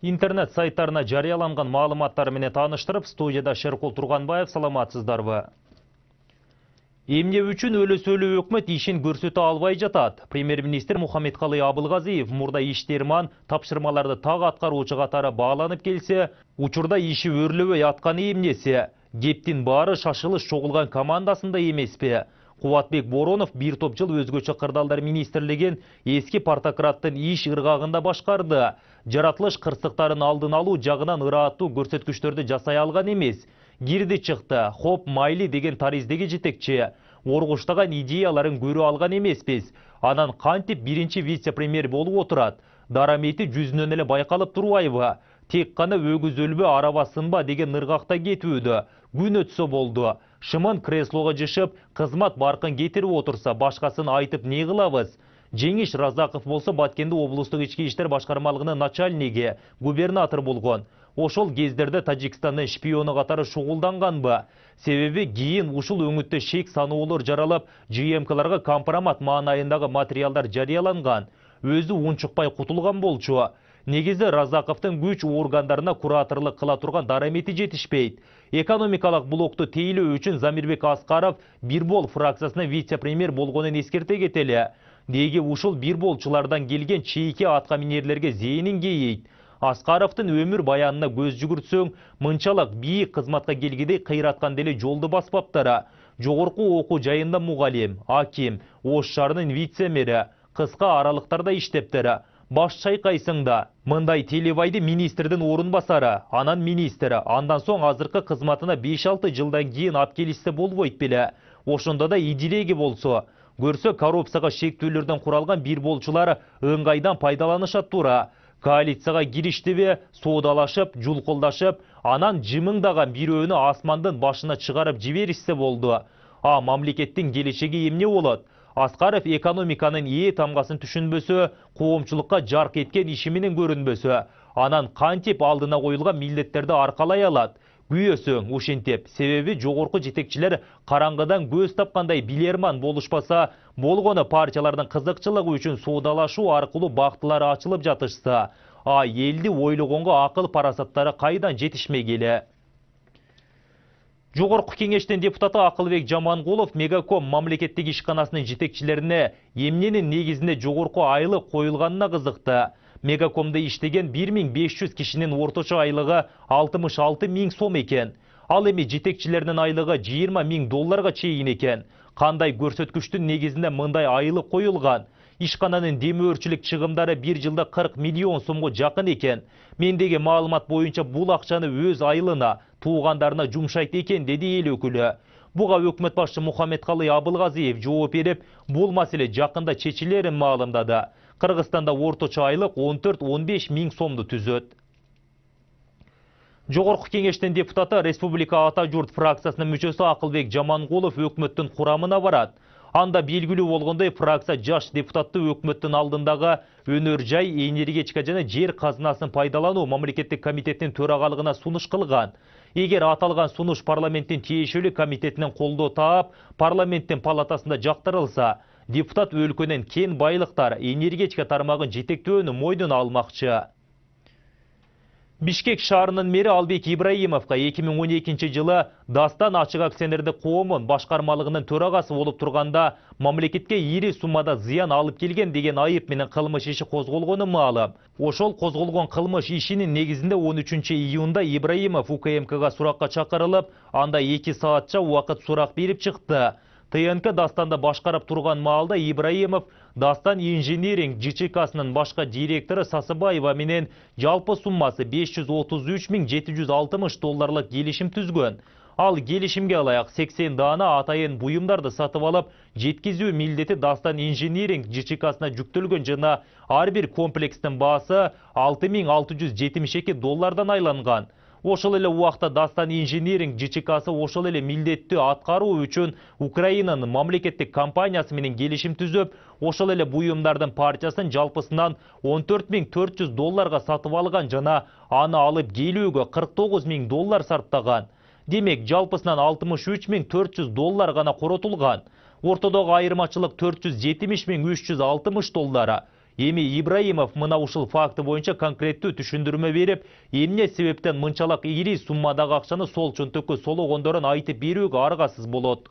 Интернет сайттарына жарыяланган маалыматтар менен тааныштырып, студияда Шеркул Турганбаев, саламатсыздарбы? Эмне үчүн өлөсөлүү өкмөт ишин көрсөтө албай жатат? Премьер-министр Мухаммедкалый Абылгазиев мурда иштерман тапшырмаларды так аткаруучу катары бааланып келсе, учурда иши өрлөбөй атканы эмнеси? Кептин баары шашылыш чогулган командасында эмеспи? Кубатбек Боронов бир топ жыл өзгөчө кырдаалдар министрлигин эски партократтын иш ыргагында башкарды. Жаратылыш кырсыктарын алдын алуу жагынан ырааттуу көрсөткүчтөрдү жасай алган эмес. Кирди чыкты, хоп майли деген тариздеги жетекчи. Оргуштаган идеяларын көрө алган эмеспиз. Анан кантип биринчи вице-премьер болуп отурат? Дарамети жүзүнөн эле байкалып турбайбы? Тек гана өгүз өлбө, араба сынба деген ыргакта кетүүдө. Күн өтсө болду. Шымын креслого жышып, кызмат баркын кетирип отурса, башкасын айтып не кылабыз? Жеңиш Разаков болсо Баткенде облустук ички иштер башкармалыгынын начальниги, губернатор болгон. Ошол кездерде Тажикстандын шпиону катары шугулданганбы? Себеби кийин ушул өңүттө шек саноолор жаралып, ЖМКларга компромат маанайындагы материалдар жарыяланган. Өзү унчукпай кутулган болчу. Негизи Разаковдун күч органдарына кураторлук кыла турган дарамети жетишпейт. Экономикалык блокту тейлөө үчүн Замирбек Аскаров Бирбол фракциясына вице-премьер болгонун эскерте кетели. Деги ушул бирболчулардан келген чейки атка минерлерге зээнин кейейт. Аскаровдун өмүр баянына көз жүгүртсөң, мынчалык бийик кызматка келгидей кыйраткан деле жолду баспаптара. Жогорку окуу жайында мугалим, аким, Ош шаарынын вице-мэри, кыска аралыктарда иштептери. Баш чайкайсың да. Мындай телебайды министрдин орун басары, анан министри, андан соң азыркы кызматына 5-6 жылдан кийин ап келишсе болбойт беле. Ошондо да идилеги болсо. Көрсө коррупцияга шектүүлөрдөн куралган бирболчулар ыңгайдан пайдаланышат тура. Коалицияга кириштиби, соодалашып, жулкулдашып, анан жымыңдаган бирөөнү асмандын башына чыгарып жиберишсе болду. Мамлекеттин келечеги эмне болот? Аскаров экономиканын тамгасын түшүнбөсө, коомчулукка жарк эткен иши менен көрүнбөсө, анан кантип алдына коюлган милдеттерди аркалай алат? Күйөсөң ушинтип, себеби жогорку жетекчилер караңгыдан көз тапкандай билерман болушпаса, болгону партиялардын кызыкчылыгы үчүн соодалашуу аркылуу бактылары ачылып жатышса, элди ойлогонго акыл парасаттары кайдан жетишмегеле? Жогорку кеңештин депутаты Акылбек Жамангулов Мегаком мамлекеттик ишканасынын жетекчилерине эмненин негизинде жогорку айлык коюлганына кызыкты. Мегакомдо иштеген 1500 кишинин орточо айлыгы 66 000 сом экен. Ал эми жетекчилеринин айлыгы 20 000 долларга чейин экен. Кандай көрсөткүчтүн негизинде мындай айлык коюлган? Ишкананын демөөрчүлүк чыгымдары бир жылда 40 миллион сомго жакын экен. Мендеги маалымат боюнча бул акчаны өз айылына, туугандарына жумшайт экен, деди эл өкүлү. Буга өкмөт башчы Мухаммедкалый Абылгазиев жооп берип, бул маселе жакында чечилерин маалымдады. Кыргызстанда орточо айлык 14-15 000 сомду түзөт. Жогорку кеңештин депутаты Республика Ата журт фракциясынын мүчөсү Акылбек Жамангулов өкмөттүн курамына барат. Анда белгилүү болгондой, фракция жаш депутатты өкмөттүн алдындагы өнөр жай, энергетика жана жер казынасын пайдалануу мамлекеттик комитетинин төрагалыгына сунуш кылган. Эгер аталган сунуш парламенттин тиешелүү комитетинен колдоо таап, парламенттин палатасында жактырылса, депутат өлкөнүн кен байлыктар, энергетика тармагын жетектөөнү мойнуна алмакчы. Бишкек шаарынын мэри Албек Ибраимовго 2012 жылы Дастан ачык акционердик коомунун башкармалыгынын төрагасы болуп турганда мамлекетке ири суммада зыян алып келген деген айып менен кылмыш иши козголгону маалым. Ошол козголгон кылмыш ишинин негизинде 13 июнда Ибраимов УКМКга суракка чакырылып, анда 2 саатча убакыт сурак берип чыкты. ТНК Дастанда башкарып турган маалда Ибраимов Дастан инжиниринг ЖЧКсынын башка директору Сасыбаева менен жалпы суммасы 533 760 долларлык келишим түзгөн. Ал келишимге ылайык 80 даана атайын буюмдарды сатып алып, жеткизүү милдети Дастан инжиниринг ЖЧКсына жүктөлгөн жана ар бир комплекстин баасы 6672 доллардан айланган. Ошол эле убакта Дастан инжиниринг ЖЧКсы ошол эле милдетти аткаруу үчүн Украинанын мамлекеттик компаниясы менен келишим түзүп, ошол эле буюмдардын партиясын жалпысынан 14 400 долларга сатып алган жана аны алып келүүгө 49 000 доллар сарптаган. Демек, жалпысынан 63 400 доллар гана коротулган. Ортодогу айырмачылык 470 360 доллара. Эми Ибраимов мына ушул факты боюнча конкреттүү түшүндүрмө берип, эмне себептен мынчалык ири суммадагы акчаны сол чөнтөккө сологондорун айтып берүүгө аргасыз болот.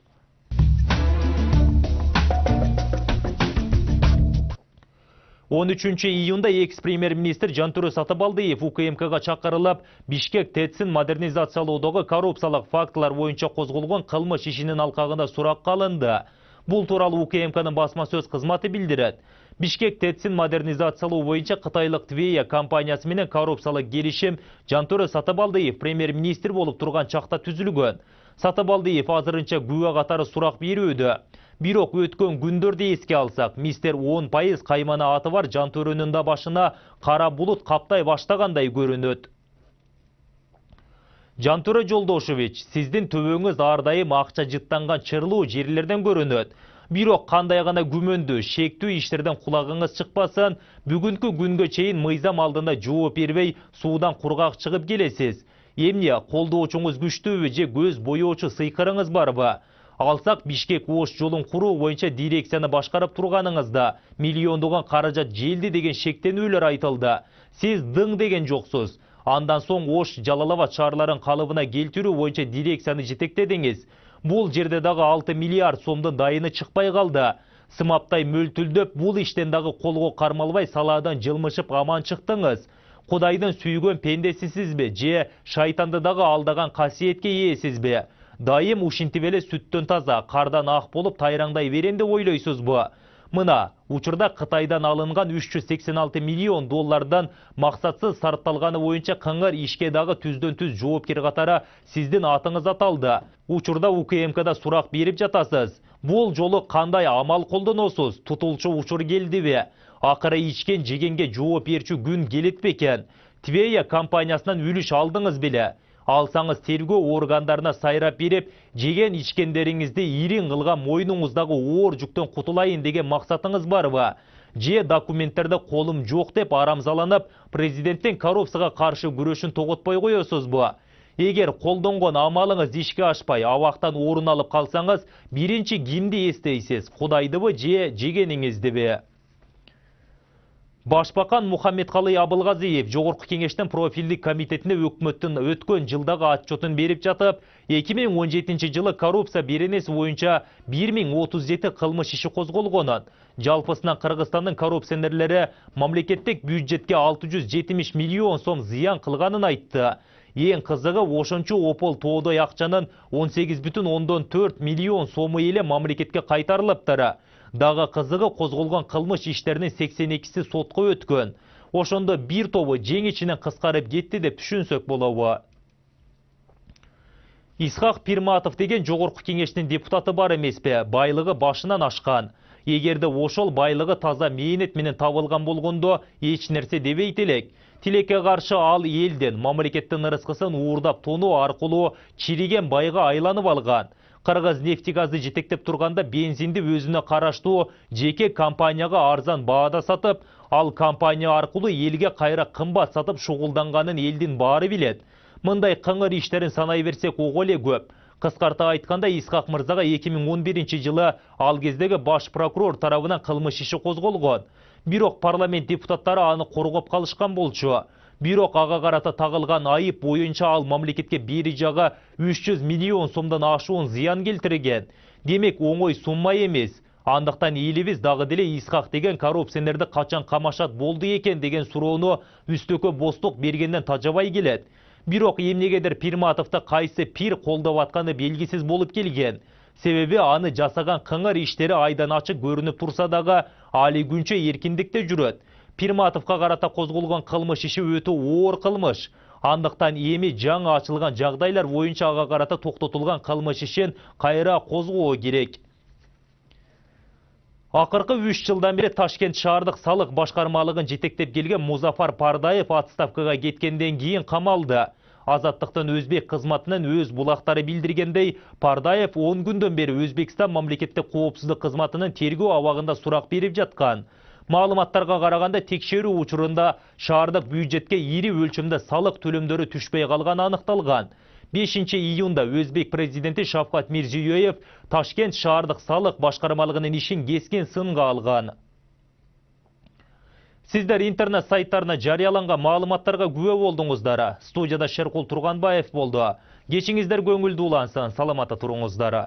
13 июнда экс-премьер-министр Жантүрө Сатыбалдиев УКМКга чакырылып, Бишкек ТЭЦин модернизациялоодогу коррупциялык фактылар боюнча козголгон кылмыш ишинин алкагында суракка алынды. Бул тууралуу УКМКнын басма сөз кызматы билдирет. Бишкек ТЭЦин модернизациялоо боюнча кытайлык Твея компаниясы менен коррупциялык келишим Жантүрө Сатыбалдиев премьер-министр болуп турган чакта түзүлгөн. Сатыбалдиев азырынча күбө катары сурак берүүдө. Бирок өткөн күндөрдү эске алсак, мистер 10% каймана аты бар Жантөрөнүн да башына кара булут каптай баштагандай көрүнөт. Жантөрө Жолдошевич, сиздин төбөңүз ар дайым акча жыттанган чырлуу жерлерден көрүнөт. Бирок кандай гана күмөндүү, шектүү иштерден кулагыңыз чыкпасын, бүгүнкү күнгө чейин мыйзам алдында жооп бербей, суудан кургак чыгып келесиз. Эмне, колдоочуңуз күчтүүбү же көз боёочу сыйкырыңыз барбы? Алсак Бишкек Ош жолун куруу боюнча дирекцияны башкарып турганыңызда миллиондогон каражат желди деген шектенүүлөр айтылды. Сиз дың деген жоксуз. Андан соң Ош Жалал-Абад шаарларын калыбына келтирүү боюнча дирекцияны жетектедиңиз. Бул жерде дагы 6 миллиард сомдун дайыны чыкпай калды. Сымаптай мөлтүлдөп, бул иштен дагы колго кармалбай салаадан жылмышып аман чыктыңыз. Кудайдын сүйгөн пендесисизби же шайтанды дагы алдаган касиетке ээсизби? Дайым ушинтип эле сүттөн таза, кардан ак болуп тайраңдай берем деп ойлойсузбу? Мына, учурда Кытайдан алынган 386 миллион доллардан максатсыз сарпталганы боюнча кыңыр ишке дагы түздөн түз жоопкер катары сиздин атыңыз аталды. Учурда УКМКда сурак берип жатасыз. Бул жолу кандай амал колдоносуз? Тутулчу учур келдиби? Акыры ичкен жегенге жооп берчү күн келет бекен? Твея компаниясынан үлүш алдыңыз беле? Алсаңыз тергөө органдарына сайрап берип, жеген ичкендериңизди ирин кылган мойнуңуздагы оор жүктөн кутулайын деген максатыңыз барбы? Же документтерде колум жок деп арамзаланып, президенттин коррупцияга каршы күрөшүн тоготпой коесузбу? Эгер колдонгон амалыңыз ишке ашпай, абактан орун алып калсаңыз, биринчи кимди эстейсиз? Кудайдыбы же жегениңиздиби? Башбакан Мухаммедкалый Абылгазиев Жогорку кеңештин профилдик комитетине өкмөттүн өткөн жылдагы отчетун берип жатып, 2017 жылы коррупция беренеси боюнча 1037 кылмыш иши козголгонун, жалпысынан Кыргызстандын коррупционерлери мамлекеттик бюджетке 670 миллион сом зыян кылганын айтты. Эң кызыгы ошончу опол тоодой акчанын 18,4 миллион сому эле мамлекетке кайтарылыптыр. Дагы кызыгы козголгон кылмыш иштеринин 82си сотко өткөн. Ошондо бир тобу жең ичинен кыскарып кетти деп түшүнсөк болобу. Исхак Пирматов деген Жогорку кеңештин депутаты бар эмеспи? Байлыгы башынан ашкан. Эгерде ошол байлыгы таза мээнет менен табылган болгондо эч нерсе дебейт элек. Тилекке каршы ал элдин, мамлекеттин ырыскысын уурдап тонуу аркылуу чириген байга айланып алган. Кыргыз нефтегазды жетектеп турганда бензинди өзүнө караштуу жеке компанияга арзан баада сатып, ал компания аркылуу элге кайра кымбат сатып шугулданганын элдин баары билет. Мындай кыңыр иштерин санай берсек ого эле көп. Кыскарта айтканда, Исхак мырзага 2011 жылы ал кездеги баш прокурор тарабынан кылмыш иши козголгон. Бирок парламент депутаттары аны коргоп калышкан болчу. Бирок ага карата тагылган айып боюнча ал мамлекетке бери жагы 300 миллион сомдон ашуун зыян келтирген. Демек оңой сумма эмес. Андыктан элибиз дагы деле Исхак деген коррупционерди качан камашат болду экен деген суроону үстөккө бостук бергенден тажабай келет. Бирок эмнегедир Пирматовду кайсы пир колдоп атканы белгисиз болуп келген. Себеби аны жасаган кыңыр иштери айдан ачык көрүнүп турса дагы али күнчө эркиндикте жүрөт. Пирматовго карата козголгон кылмыш иши өтө оор кылмыш. Андыктан эми жаңы ачылган жагдайлар боюнча ага карата токтотулган кылмыш ишин кайра козгоо керек. Акыркы 3 жылдан бери Ташкент шаардык салык башкармалыгын жетектеп келген Музафар Пардаев отставкага кеткенден кийин камалды. Азаттыктын өзбек кызматынын өз булактары билдиргендей, Пардаев 10 күндөн бери Өзбекстан мамлекеттик коопсуздук кызматынын тергөө абагында сурак берип жаткан. Маалыматтарга караганда текшерүү учурунда шаардык бюджетке ири өлчөмдө салык төлөмдөрү түшпөй калганы аныкталган. 5 июнда Өзбек президенти Шавкат Мирзиёев Ташкент шаардык салык башкармалыгынын ишин кескен сынга алган. Сиздер интернет сайттарына жарыяланган маалыматтарга күбө болдуңуздар. Студияда Шеркул Турганбаев болду. Кечиңиздер көңүлдүү улансын, саламатта туруңуздар.